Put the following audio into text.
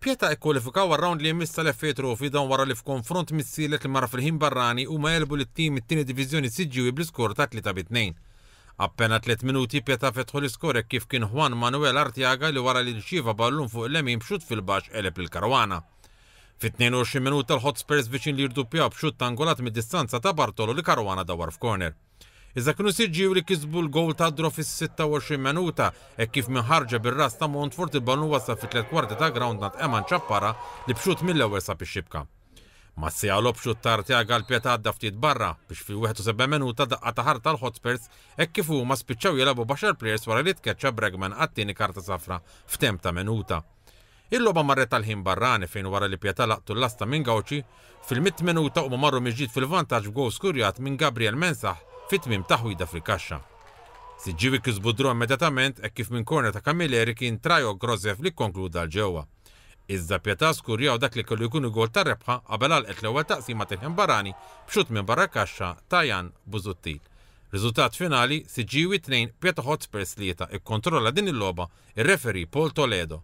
Pietà ikkwalifikaw għar-rawnd li jmiss tal-FA Trophy dan wara li f'konfront missielet li mar fil-ħin barrani huma għelbu lit-tim mit-tieni diviżjoni Siġġiewi bl-iskor ta' 3 bi 2. Appena tliet minuti Pietà fetħu l-iskor hekk kif kien Juan Manuel Arteaga li wara li rċieva ballun fuq il-lemin b'xutt fil-baxx għeleb lil Caruana. Fit-22 minuta l-Hotspurs viċin li jirduppjaw b'xutt angolat mid-distanza ta' Bartolo li Caruana dawwar f'corner. Iżda kienu Siġġiewi li kisbu l-gowl tad-draw fis-26 minuta hekk kif minn ħarġa bir-ras ta' Montfort il-ballun wasal fi tliet kwarti ta' grawnd ngħand Eman Ciappara li b'xutt mill-ewwel sab ix-xibka. Mas-siegħa logħob xutt ta' Arteaga għal Pietà għadda ftit barra biex fil-71 minuta daqqa ta' ħarta l-Hotspurs hekk kif huma spiċċaw jilagħbu b'għaxar plejers wara li tkeċċa Bregman għat-tieni karta safra f'temp ta' minuta. Il-logħba marret għal ħin barrani fejn wara li Pietà laqtu l-lasta minn Gauci, fil-mitt minuta huma marru mill-ġdid fil-vantaġġ b'gowl skurjat minn Gabriel Mensah fi tmiem taħwida fil-kaxxa. Siġġiewi kisbu d-draw immedjatament hekk kif minn korner ta' Camilleri kien Trajo Grozev li kkonkluda għal ġewwa. Iżda Pietà skurjaw dak li kellu jkun il-gowl tar-rebħa qabel għalqet l-ewwel taqsima tal-ħin barrani b'xutt minn barra l-kaxxa ta' Jan Busuttil. Riżultat finali, Siġġiewi 2, Pietà Hotspurs 3 ikkontrolla din il-logħba ir-referee Paul Toledo.